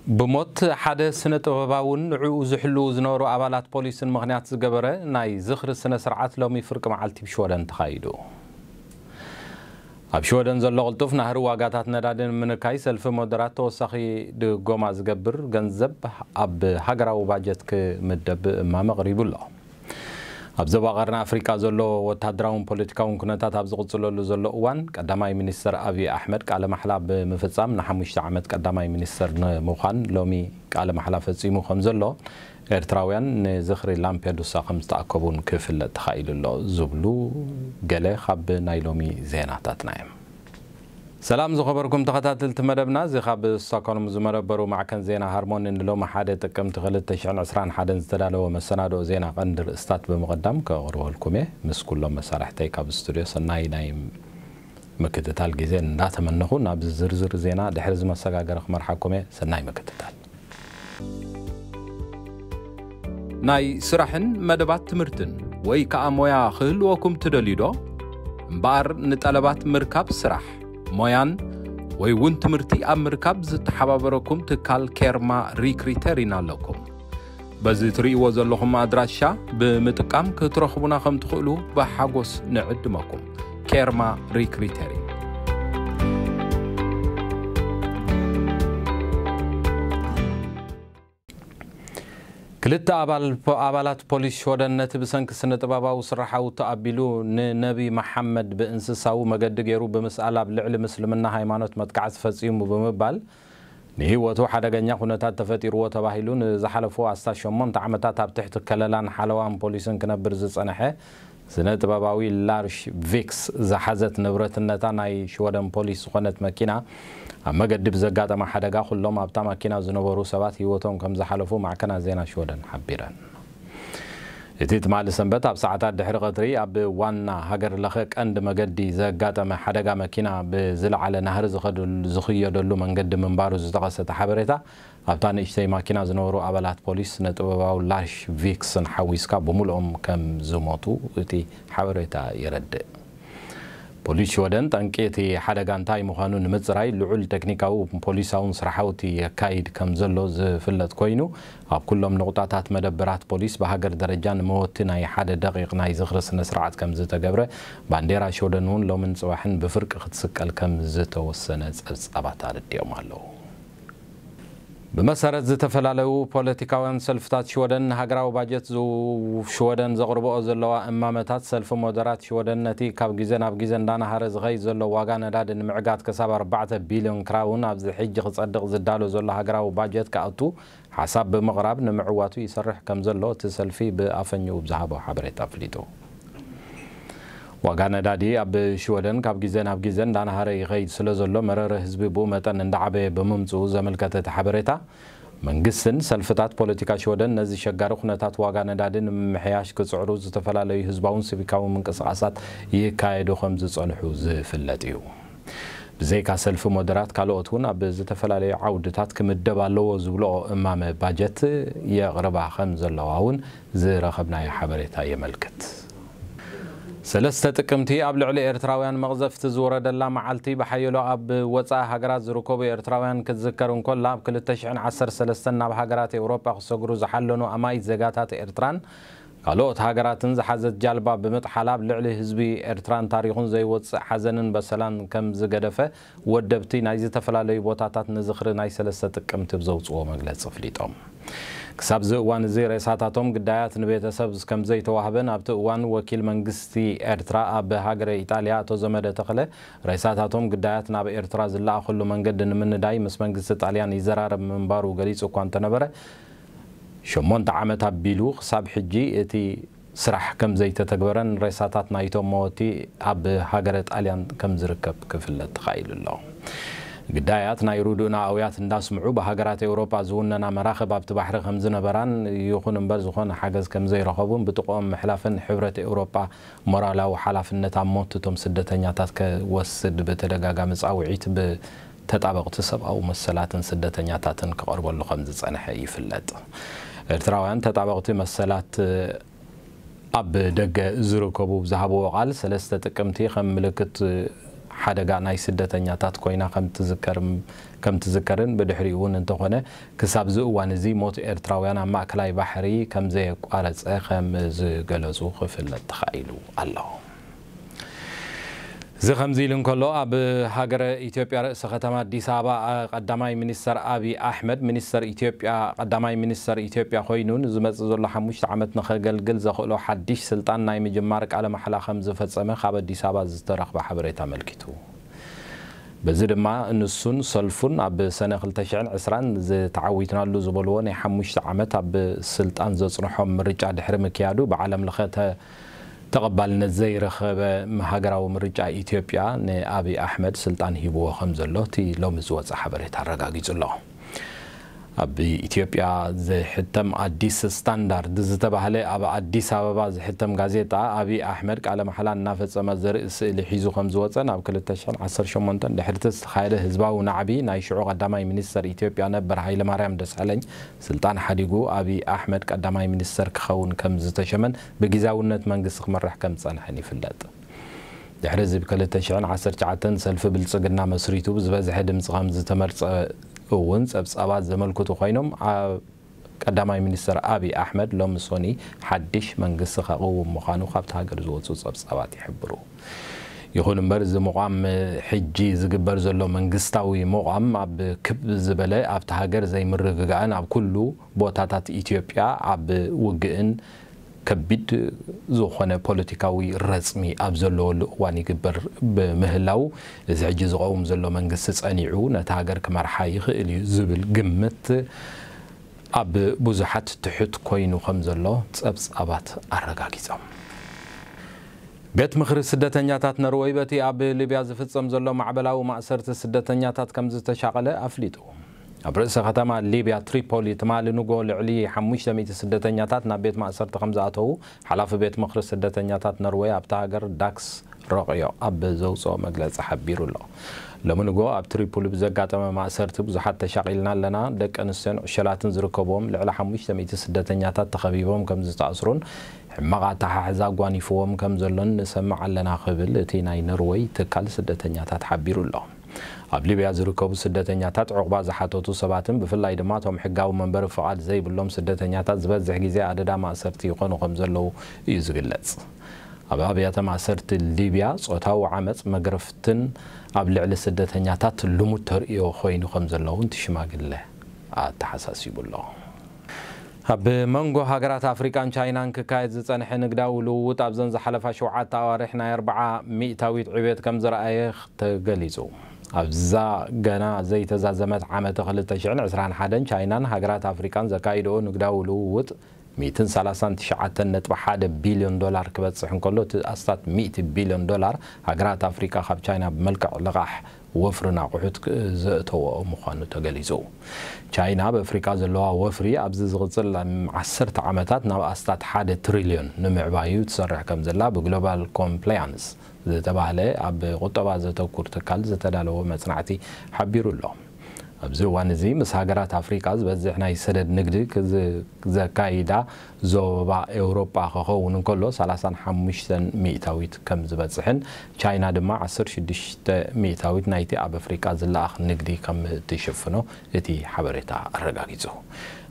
ብሞት ሓደ ስነ ጥበባውን ንዕኡ ዝሕልዉ ዝነበሩ ኣባላት ፖሊስን ምኽንያት ዝገበረ ናይ ዝኽሪ ስነ ስርዓት ሎሚ ፍርቂ መዓልቲ ብሽወደን ተኻይዱ። ኣብ ሽወደን ዘሎ ቅልጡፍ ናህሪ ዋጋታት ነዳዲ ንምንካይ ሰልፊ ሞደራት ተወሳኺ ድጎማ ዝገብር ገንዘብ ኣብ ሃገራዊ ባጀት ክምደብ እማመ ኣቕሪቡ ኣሎ። ኣብ ዞባ ቀርኒ ኣፍሪቃ ዘሎ ወታደራውን ፖለቲካውን ኩነታት ኣብ ዝቕጽለሉ ዘሎ እዋን፣ ቀዳማይ ሚኒስተር ኣብይ ኣሕመድ ቃለ ማሕላ ብምፍጻም ንሓሙሽተ ዓመት ቀዳማይ ሚኒስተር ንምዃን ሎሚ ቃለ ማሕላ ፈጺሙ ከም ዘሎ፣ ኤርትራውያን ንዝኽሪ ላምፔዱሳ ከም ዝተኣከቡን ክፍለጥ ተኻኢሉ ኣሎ ዝብሉ ገለ ካብ ናይ ሎሚ ዜናታትና እዮም። ሰላም ዝኸበርኩም ተኸታተልቲ መደብና፣ እዚ ካብ ስቶክሆልም ዝመደበሩ ማዕከን ዜና ሃርሞኒ ንሎሚ ሓደ ጥቅምቲ ክልተ ሽሕን ዕስራን ሓደን ዝተዳለወ መሰናድኦ ዜና ቀንዲ ርእስታት ብምቕዳም ከቕርበልኩም እየ። ምስ ኩሎም መሳርሕተይ ካብ ስቱድዮ ሰናይ ናይ ምክትታል ግዜ እንዳተመነኹ፣ ናብ ዝርዝር ዜና ድሕሪ ዝመሰጋገረ ክመርሓኩም እየ። ሰናይ ምክትታል። ናይ ስራሕን መደባት ትምህርትን ወይ ከኣ ሞያ ክህልወኩም ትደልዩ ዶ? እምበኣር ንጠለባት ምርካብ ስራሕ፣ ሞያን ወይ እውን ትምህርቲ ኣብ ምርካብ ዝተሓባበረኩም ትካል ኬርማ ሪክሪተሪን ኣለኩም። በዚ ትርእይዎ ዘለኹም ኣድራሻ ብምጥቃም ክትረኽቡና ከም ትኽእሉ ብሓጎስ ንዕድመኩም። ኬርማ ሪክሪተሪን። ክልተ ኣባል-፣ ኣባላት ፖሊስ ሽወደን ነቲ ብሰንኪ ስነ ጥበባዊ ስራሓዊ ተኣቢሉ ንነቢ መሓመድ ብእንስሳዊ መገዲ ገይሩ ብምስኣል ኣብ ልዕሊ ምስልምና ሃይማኖት መጥቃዕቲ ፈጺሙ ብምባል ንህይወቱ ሓደገኛ ኩነታት ተፈጢርዎ ተባሂሉ ንዝሓለፉ ኣስታት ሸሞንተ ዓመታት ኣብ ትሕቲ ከለላን ሓለዋን ፖሊስን ክነብር ዝጸንሐ ስነ ጥበባዊ ላርሽ ቪክስ ዝሓዘት ንብረትነታ ናይ ሽወደን ፖሊስ ዝኾነት መኪና ኣብ መገዲ ብዘጋጠመ ሓደጋ ኩሎም ኣብታ ማኪና ዝነበሩ ሰባት ህይወቶም ከም ዝሓለፉ ማዕከናት ዜና ሽወደን ሓቢረን። እቲ ትማሊ ሰንበት ኣብ ሰዓታት ድሕሪ ቀትሪ ኣብ ዋና ሃገር ለኸ ቀንዲ መገዲ ዘጋጠመ ሓደጋ መኪና ብዝለዓለ ናህሪ ዝኸደሉ-፣ ዝኽየደሉ መንገዲ ምንባሩ ዝጠቐሰ እቲ ሓበሬታ፣ ኣብታ ንእሽተይ ማኪና ዝነበሩ ኣባላት ፖሊስ ስነ ጥበባዊ ላሽ ቪክስን ሓዊስካ ብምሉኦም ከም ዝሞቱ እቲ ሓበሬታ የረድእ። ፖሊስ ሽወደን ጠንቂ እቲ ሓደጋ እንታይ ምዃኑ ንምጽራይ ልዑል ቴክኒካዊ ፖሊሳውን ስራሓውቲ የካይድ ከም ዘሎ ዝፍለጥ ኮይኑ፣ ኣብ ኩሎም ንቑጣታት መደበራት ፖሊስ ብሃገር ደረጃ ንመወቲ ናይ ሓደ ደቂቕ ናይ ዝኽሪ ስነ ስርዓት ከም ዝተገብረ፣ ባንዴራ ሽወደን እውን ሎምን ጽባሕን ብፍርቂ ክትስቀል ከም ዝተወሰነ ጸብጻባት ኣረዲኦም ኣለዉ። ብመሰረት ዝተፈላለዩ ፖለቲካውያን ሰልፍታት ሽወደን፣ ንሃገራዊ ባጀት ዝው-፣ ሽወደን ዘቕርብኦ ዘለዋ እማመታት፣ ሰልፊ ሞደራት ሽወደን ነቲ ካብ ግዜ ናብ ግዜ እንዳናሃረ ዝኸይድ ዘሎ ዋጋ ነዳዲ ንምዕጋት ክሳብ ኣርባዕተ ቢልዮን ክራውን ኣብዚ ሕጂ ክጸድቕ ዝዳሎ ዘሎ ሃገራዊ ባጀት ክኣቱ ሓሳብ ብምቕራብ ንምዕዋቱ ይሰርሕ ከም ዘሎ እቲ ሰልፊ ብኣፈኛኡ ብዝሃቦ ሓበሬታ ኣፍሊጡ። ዋጋ ነዳዲ ኣብ ሽወደን ካብ ግዜ ናብ ግዜ እንዳናሃረ ይኸይድ ስለ ዘሎ፣ መረረ ህዝቢ ብኡ መጠን እንዳዓበየ ብምምጽኡ ዘመልከተ እቲ ሓበሬታ፣ መንግስትን ሰልፍታት ፖለቲካ ሽወደን ነዚ ሸጋሪ ኩነታት ዋጋ ነዳዲ ንምምሕያሽ ክጽዕሩ ዝተፈላለዩ ህዝባውን ሲቪካውን ምንቅስቓሳት ይካየዱ ከም ዝጸንሑ ዝፍለጥ እዩ። ብዘይካ ሰልፊ ሞደራት፣ ካልኦት እውን ኣብ ዝተፈላለዩ ዓውድታት ክምደብ ኣለዎ ዝብልኦ እማመ ባጀት የቕርባ ከም ዘለዋ እውን ዝረኸብናዮ ሓበሬታ የመልክት። ሰለስተ ጥቅምቲ ኣብ ልዕሊ ኤርትራውያን መቕዘፍቲ ዝወረደላ መዓልቲ ብሓየሎ ኣብ ወጻኢ ሃገራት ዝርከቡ ኤርትራውያን ክትዝከር እንኮላ፣ ኣብ ክልተ ሽሕን ዓሰርተ ሰለስተን ናብ ሃገራት ኤውሮጳ ክሰግሩ ዝሓለኑ ኣማኢት ዜጋታት ኤርትራን ካልኦት ሃገራትን ዝሓዘት ጃልባ ብምጥሓላ ኣብ ልዕሊ ህዝቢ ኤርትራን ታሪኹን ዘይወጽእ ሓዘንን በሰላን ከም ዝገደፈ ወደብቲ ናይ ዝተፈላለዩ ቦታታት ንዝኽሪ ናይ ሰለስተ ጥቅምቲ ብዘውጽዎ መግለጺ ኣፍሊጦም። ክሳብ እዚ እዋን እዚ ሬሳታቶም ግዳያት ንቤተሰብ ከም ዘይተዋህበን ኣብቲ እዋን ወኪል መንግስቲ ኤርትራ ኣብ ሃገረ ኢጣልያ ኣቶ ዘመደ ተኽለ ሬሳታቶም ግዳያት ናብ ኤርትራ ዝለኣኸሉ መንገዲ ንምንዳይ ምስ መንግስቲ ጣልያን ይዘራረብ ምንባሩ ገሊጹ እኳ እንተነበረ፣ ሸሞንተ ዓመት ኣቢሉ ክሳብ ሕጂ እቲ ስራሕ ከም ዘይተተግበረን ሬሳታት ናይቶም መወቲ ኣብ ሃገረ ጣልያን ከም ዝርከብ ክፍለጥ ተኻኢሉ ኣሎ። ግዳያት ናይ ርዱእና ኣውያት እንዳስምዑ ብሃገራት ኤውሮጳ ዝውነና መራኽብ ኣብቲ ባሕሪ ከም ዝነበራን ይኹን እምበር ዝኾነ ሓገዝ ከም ዘይረኸቡን ብጥቕኦም ምሕላፍን ሕብረት ኤውሮጳ ሞራላዊ ሓላፍነት ኣብ ሞት እቶም ስደተኛታት ከወስድ ብተደጋጋሚ ጻውዒት ብተጣበቕቲ ሰብኣዊ መሰላትን ስደተኛታትን ክቐርበሉ ከም ዝጸንሐ ይፍለጥ። ኤርትራውያን ተጣበቕቲ መሰላት ኣብ ደገ ዝርከቡ ዝሃብዎ ቃል፣ ሰለስተ ጥቅምቲ ከም ምልክት ሓደጋ ናይ ስደተኛታት ኮይና ከም ትዝከርን ብድሕሪኡ እውን እንተኾነ ክሳብ እዚ እዋን እዚ ሞት ኤርትራውያን ኣብ ማእከላይ ባሕሪ ከም ዘየቋረጸ ከም ዝገለጹ ክፍለጥ ተኻኢሉ ኣሎ። እዚ ከምዚ ኢሉ እንከሎ ኣብ ሃገረ ኢትዮጵያ ርእሰ ከተማ ኣዲስ ኣበባ ቀዳማይ ሚኒስተር ኣብይ ኣሕመድ ሚኒስተር ኢትዮጵያ ቀዳማይ ሚኒስተር ኢትዮጵያ ኮይኑ ንዝመጽእ ዘሎ ሓሙሽተ ዓመት ንኸገልግል ዘኽእሎ ሓድሽ ስልጣን ናይ ምጅማር ቃለ ማሕላ ከም ዝፈጸመ ካብ ኣዲስ ኣበባ ዝተረኽበ ሓበሬታ ኣመልኪቱ። በዚ ድማ ንሱን ሰልፉን ኣብ ሰነ ክልተ ሽሕን ዕስራን ዝተዓዊትናሉ ዝበልዎ ናይ ሓሙሽተ ዓመት ኣብ ስልጣን ዘጽንሖም ምርጫ ድሕሪ ምክያዱ ብዓለም ለኸ ተቐባልነት ዘይረኸበ ሃገራዊ ምርጫ ኢትዮጵያ ንኣብይ ኣሕመድ ስልጣን ሂብዎ ከም ዘሎ እቲ ሎሚ ዝወፀ ሓበሬታ ኣረጋጊፁ ኣሎ። ኣብ ኢትዮጵያ ዝሕተም ኣዲስ ስታንዳርድ ዝተባህለ ኣብ ኣዲስ ኣበባ ዝሕተም ጋዜጣ ኣብይ ኣሕመድ ቃለ መሓላ እናፈፀመ ዘርኢ ስእሊ ሒዙ ከም ዝወፀ ናብ ክልተ ሽሕን ዓሰርተ ሸሞንተን ድሕሪ ዝተኻየደ ህዝባዊ ናዕቢ ናይ ሽዑ ቀዳማይ ሚኒስተር ኢትዮጵያ ነበር ሃይለማርያም ደሳለኝ ስልጣን ሓዲጉ ኣብይ ኣሕመድ ቀዳማይ ሚኒስተር ክኸውን ከም ዝተሸመን ብጊዛውነት መንግስቲ ክመርሕ ከም ዝጸንሐን ይፍለጥ። ድሕሪ እዚ ብ ክልተ ሽሕን ዓሰርተ ትሽዓተን ሰልፊ ብልጽግና መስሪቱ ብዝበዝሐ ድምጺ ከም ዝተመርጸ እውን ጸብጻባት ዘመልክቱ ኮይኖም ኣብ ቀዳማይ ሚኒስትር ኣብይ ኣሕመድ ሎሚ ሶኒ ሓድሽ መንግስቲ ከቕውም ምዃኑ ካብቲ ሃገር ዝወጹ ጸብጻባት ይሕብሩ። ይኹን እምበር እዚ ምቋም ሕጂ ዝግበር ዘሎ መንግስታዊ ምቋም ኣብ ክብ ዝበለ ኣብቲ ሃገር ዘይምርግጋእን ኣብ ኩሉ ቦታታት ኢትዮጵያ ኣብ ውግእን ከቢድ ዝኾነ ፖለቲካዊ ረጽሚ ኣብ ዘለወሉ እዋን ይግበር ብምህላው እዚ ሕጂ ዝቐውም ዘሎ መንግስቲ ጸኒዑ ነታ ሃገር ክመርሓ ይኽእል እዩ ዝብል ግምት ኣብ ብዙሓት ትሑት ኮይኑ ከም ዘሎ ጸብጻባት ኣረጋጊጾም። ቤት ምኽሪ ስደተኛታት ነርወይ በቲ ኣብ ሊብያ ዝፍጸም ዘሎ ማዕበላዊ ማእሰርቲ ስደተኛታት ከም ዝተሻቐለ ኣፍሊጡ። ኣብ ርእሰ ከተማ ሊብያ ትሪፖሊ ትማሊ ንጎ ልዕሊ ሓሙሽተ ሚእቲ ስደተኛታት ናብ ቤት ማእሰርቲ ከም ዝኣተዉ ሓላፊ ቤት ምኽሪ ስደተኛታት ነርወይ ኣብታ ሃገር ዳክስ ረቕዮ ኣብ ዘውፅኦ መግለፂ ሓቢሩ ኣሎ። ሎሚ ንጎ ኣብ ትሪፖሊ ብዘጋጠመ ማእሰርቲ ብዙሓት ተሻቒልና ኣለና፣ ደቂ ኣንስትዮን ዕሸላትን ዝርከብዎም ልዕሊ ሓሙሽተ ሚእቲ ስደተኛታት ተኸቢቦም ከም ዝተኣስሩን ሕማቕ ኣተሓሕዛ ኣጓኒፍዎም ከም ዘሎን ንሰምዕ ኣለና ክብል እቲ ናይ ነርወይ ትካል ስደተኛታት ሓቢሩ ኣሎ። ኣብ ሊብያ ዝርከቡ ስደተኛታት ዕቑባ ዝሓተቱ ሰባትን ብፍላይ ድማ እቶም ሕጋዊ መንበሪ ፍቓድ ዘይብሎም ስደተኛታት ዝበዝሕ ግዜ ኣደዳ ማእሰርቲ ይኾኑ ከም ዘለዉ እዩ ዝግለጽ። ኣብ ኣብያተ ማእሰርቲ ሊብያ ጾታዊ ዓመጽ መግረፍትን ኣብ ልዕሊ ስደተኛታት ልሙድ ተርእዮ ኮይኑ ከም ዘለዉ እቲ ሽማግለ ኣተሓሳሲቡ ኣሎ። ኣብ መንጎ ሃገራት ኣፍሪቃን ቻይናን ክካየድ ዝጸንሐ ንግዳዊ ልውውጥ ኣብዘን ዝሓለፋ ሸውዓተ ኣዋርሕ ናይ ኣርብዓ ሚእታዊት ዕብየት ከም ዘርኣየ ተገሊጹ። ኣብዛ ገና ዘይተዛዘመት ዓመተ ክልተ ሽሕን ዕስራን ሓደን ቻይናን ሃገራት ኣፍሪቃን ዘካይድኦ ንግዳዊ ልውውጥ ሚእትን ሰላሳን ትሽዓተን ነጥቢ ሓደ ቢልዮን ዶላር ክበጽሕ እንከሎ እቲ ኣስታት ሚእቲ ቢልዮን ዶላር ሃገራት ኣፍሪቃ ካብ ቻይና ብመልክዕ ልቓሕ ወፍርን ኣቑሑት ክ- ዘእተወኦ ምዃኑ ተገሊጹ። ቻይና ኣብ ኣፍሪቃ ዘለዋ ወፍሪ ኣብዚ ዝቕጽል ዓሰርተ ዓመታት ናብ ኣስታት ሓደ ትሪልዮን ንምዕባዩ ትሰርሕ ከም ዘላ ብግሎባል ኮምፕላያንስ ዝተባህለ ኣብ ቁጠባ ዘተኩር ትካል ዝተዳለወ መጽናዕቲ ሓቢሩ ኣሎ። ኣብዚ እዋን እዚ ምስ ሃገራት ኣፍሪቃ ዝበዝሕ ናይ ሰደድ ንግዲ ክዝ- ዘካይዳ ዞባ ኤውሮጳ ክኸውን እንከሎ ሰላሳን ሓሙሽተን ሚእታዊት ከም ዝበጽሕን ቻይና ድማ ዓሰርተ ሽዱሽተ ሚእታዊት ናይቲ ኣብ ኣፍሪቃ ዝለኣኽ ንግዲ ከም ትሽፍኖ እቲ ሓበሬታ ኣረጋጊጹ።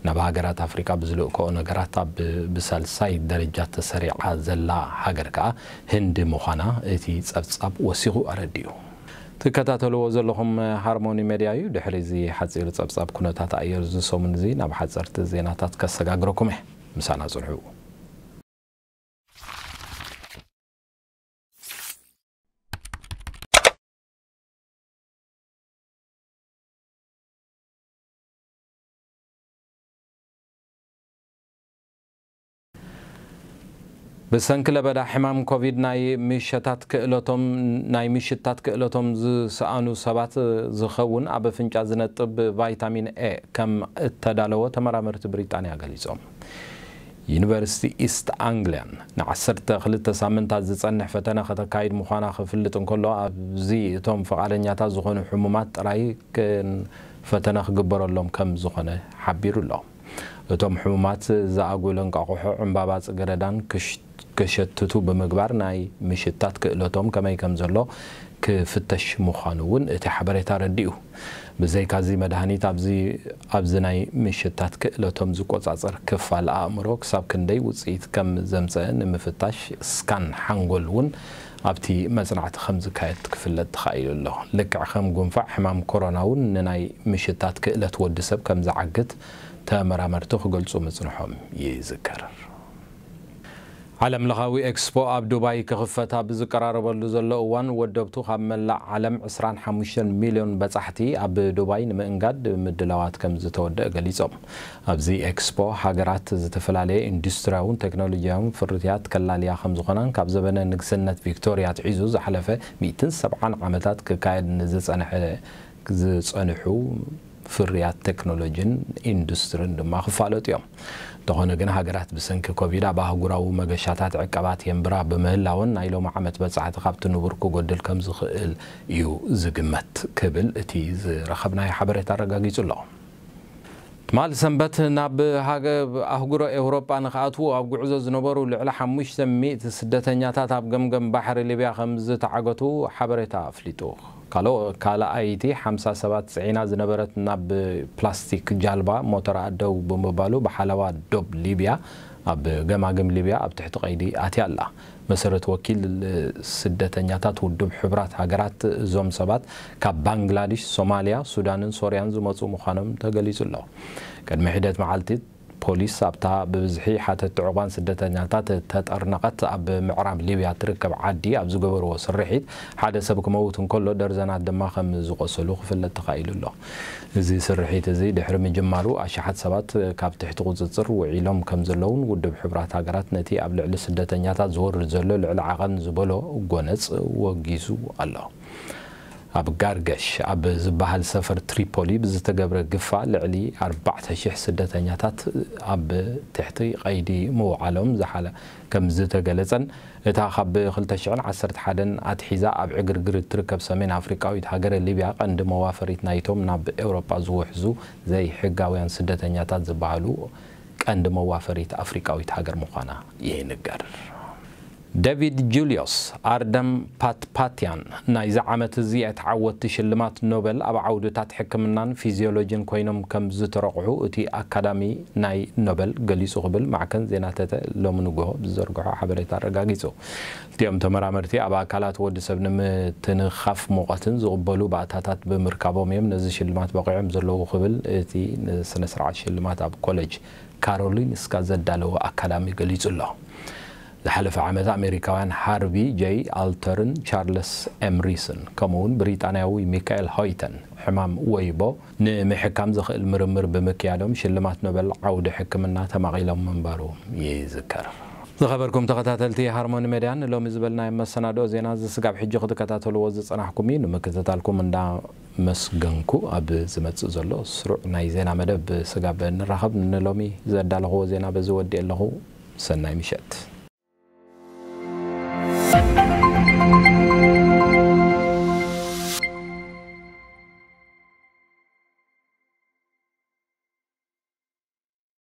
ናብ ሃገራት ኣፍሪቃ ብዝልእክኦ ነገራት ኣብ ብሳልሳይ ደረጃ ተሰሪዓ ዘላ ሃገር ከኣ ህንዲ ምዃና እቲ ጸብጻብ ወሲኹ ኣረዲኡ። ትከታተልዎ ዘለኹም ሃርሞኒ ሜድያ እዩ። ድሕሪ እዚ ሓጺር ጸብጻብ ኩነታት ኣየር እዚ ሰሙን እዚ ናብ ሓጸርቲ ዜናታት ከሰጋግረኩም እየ። ምሳና ጽንሑ። ብሰንኪ ለበዳ ሕማም ኮቪድ ናይ ምሸታት ክእለቶም ናይ ምሽታት ክእለቶም ዝሰኣኑ ሰባት ዝኸውን ኣብ ኣፍንጫ ዝነጥብ ቫይታሚን ኤ ከም እተዳለወ ተመራመርቲ ብሪጣንያ ገሊጾም። ዩኒቨርሲቲ ኢስት ኣንግሊያን ንዓሰርተ ክልተ ሳምንታት ዝጸንሕ ፈተነ ከተካይድ ምዃና ክፍልጥ እንከሎ ኣብዚ እቶም ፍቓደኛታት ዝኾኑ ሕሙማት ጥራይ ክን- ፈተነ ክግበረሎም ከም ዝኾነ ሓቢሩ ኣሎ። እቶም ሕሙማት ዝኣጉል እንቃቑሖ፣ ዕምባባ ጽገረዳን ክሽ- ከሸትቱ ብምግባር ናይ ምሽታት ክእለቶም ከመይ ከም ዘሎ ክፍተሽ ምዃኑ እውን እቲ ሓበሬታ ኣረዲኡ። ብዘይካዚ መድሃኒት ኣብዚ ኣብዚ ናይ ምሽታት ክእለቶም ዝቆጻጸር ክፋል ኣእምሮ ክሳብ ክንደይ ውጽኢት ከም ዘምጸአ ንምፍታሽ ስካን ሓንጎል እውን ኣብቲ መጽናዕቲ ከም ዝካየድ ክፍለጥ ተኻኢሉ ኣሎ። ልክዕ ከም ጉንፋዕ፣ ሕማም ኮሮና እውን ንናይ ምሽታት ክእለት ወዲ ሰብ ከም ዝዓግት ተመራመርቲ ክገልጹ ምጽንሖም ይዝከር። ዓለም ለኻዊ ኤክስፖ ኣብ ዱባይ ክኽፈት ኣብ ዝቀራረበሉ ዘሎ እዋን፣ ወደብቱ ካብ መላእ ዓለም ዕስራን ሓሙሽተን ሚልዮን በጻሕቲ ኣብ ዱባይ ንምእንጋድ ምድላዋት ከም ዝተወደአ ገሊጾም። ኣብዚ ኤክስፖ፣ ሃገራት ዝተፈላለየ ኢንዱስትሪያውን ቴክኖሎጂያውን ፍርያት ከላልያ ከም ዝኾናን ካብ ዘበነ ንግስነት ቪክቶርያ ኣትሒዙ ዝሓለፈ ሚእትን ሰብዓን ዓመታት ክካየድ ንዝጸንሐ ዝጸንሑ ፍርያት ቴክኖሎጂን ኢንዱስትሪን ድማ ክፋለጡ እዮም። እንተኾነ ግን፣ ሃገራት ብሰንኪ ኮቪድ ኣብ ኣህጉራዊ መገሻታት ዕቀባት የንብራ ብምህላወን፣ ናይ ሎሚ ዓመት በጻሕቲ ካብቲ ንቡር ክጎድል ከም ዝኽእል እዩ ዝግመት ክብል እቲ ዝረኸብናዮ ሓበሬታ ኣረጋጊጹ ኣሎ። ትማሊ ሰንበት ናብ ሃገ-፣ ኣህጉረ ኤውሮጳ ንኽኣትዉ ኣብ ጉዕዞ ዝነበሩ ልዕሊ ሓሙሽተ ሚእቲ ስደተኛታት ኣብ ገምገም ባሕሪ ሊብያ ከም ዝተዓገቱ ሓበሬታ ኣፍሊጡ። ካልኦ-፣ ካልኣይቲ ሓምሳ ሰባት ጽዒና ዝነበረት ናብ ፕላስቲክ ጃልባ ሞተራ ደው ብምባሉ ብሓለዋ ዶብ ሊብያ ኣብ ገማግም ሊብያ ኣብ ትሕቲ ቀይዲ ኣትያ ኣላ። መሰረት ወኪል ስደተኛታት ውድብ ሕቡራት ሃገራት፣ እዞም ሰባት ካብ ባንግላዴሽ፣ ሶማልያ፣ ሱዳንን ሶርያን ዝመጹ ምዃኖም ተገሊጹ ኣሎ። ቅድሚ ሒደት መዓልቲ ፖሊስ ኣብታ ብብዝሒ ሓተትቲ ዕቑባን ስደተኛታት እተጠርነቐት ኣብ ምዕራብ ሊብያ እትርከብ ዓዲ ኣብ ዝገበርዎ ስርሒት፣ ሓደ ሰብ ክመውት እንከሎ፣ ደርዘናት ድማ ከም ዝቖሰሉ ክፍለጥ ተኻኢሉ ኣሎ። እዚ ስርሒት እዚ ድሕሪ ምጅማሩ፣ ኣሽሓት ሰባት ካብ ትሕቲ ቁጽጽር ውዒሎም ከም ዘለውን ውድብ ሕቡራት ሃገራት ነቲ ኣብ ልዕሊ ስደተኛታት ዝወርድ ዘሎ ልዕሊ ዓቐን ዝበሎ ጎነጽ ወጊዙ ኣሎ። ኣብ ጋርገሽ ኣብ ዝበሃል ሰፈር ትሪፖሊ ብዝተገብረ ግፋ፣ ልዕሊ ኣርባዕተ ሽሕ ስደተኛታት ኣብ ትሕቲ ቀይዲ ምውዓሎም ዝሓለ ከም ዝተገለጸን፣ እታ ካብ ክልተ ሽሕን ዓሰርተ ሓደን ኣትሒዛ ኣብ ዕግርግር እትርከብ ሰሜን ኣፍሪቃዊት ሃገረ ሊብያ፣ ቀንዲ መዋፈሪት ናይቶም ናብ ኤውሮጳ ዝውሕዙ ዘይሕጋውያን ስደተኛታት ዝበሃሉ ቀንዲ መዋፈሪት ኣፍሪቃዊት ሃገር ምዃና ይንገር። ዴቪድ ጁልዮስ ኣርደም ፓትፓትያን ናይዚ ዓመት እዚ ተዓወትቲ ሽልማት ኖበል ኣብ ዓውድታት ሕክምናን ፊዚዮሎጂን ኮይኖም ከም ዝተረቑሑ እቲ ኣካዳሚ ናይ ኖበል ገሊጹ ክብል ማዕከን ዜና ተተ ሎሚ ንግሆ ብዝዘርግሖ ሓበሬታ ኣረጋጊጹ። እቲኦም ተመራመርቲ ኣብ ኣካላት ወዲ ሰብ ንምትንኻፍ ሙቐትን ዝቕበሉ ባእታታት ብምርካቦም እዮም ነዚ ሽልማት በቒዖም ዘለዉ ክብል እቲ ንስነ ስርዓት ሽልማት ኣብ ኮሌጅ ካሮሊንስካ ዘዳለወ ኣካዳሚ ገሊጹ ኣሎ። ዝሓለፈ ዓመት ኣሜሪካውያን ሃርቪ ጀይ ኣልተርን ቻርለስ ኤምሪስን ከምኡውን ብሪጣንያዊ ሚካኤል ሆይተን ሕማም ወይቦ ንምሕካም ዘኽእል ምርምር ብምክያዶም ሽልማት ኖበል ዓውዲ ሕክምና ተማቒሎም ምንባሩ ይዝከር። ዝኸበርኩም ተኸታተልቲ ሃርሞኒ ሜድያ፣ ንሎሚ ዝበልናዮ መሰናድኦ ዜና እዚ ስጋብ ሕጂ ክትከታተልዎ ዝጸናሕኩም እዩ። ንምክትታልኩም እንዳመስገንኩ፣ ኣብ ዝመጽእ ዘሎ ስሩዕ ናይ ዜና መደብ ስጋብ ንራኸብ፣ ንሎሚ ዘዳለኽዎ ዜና በዚ ወዲኤ ኣለኹ። ሰናይ ምሸት።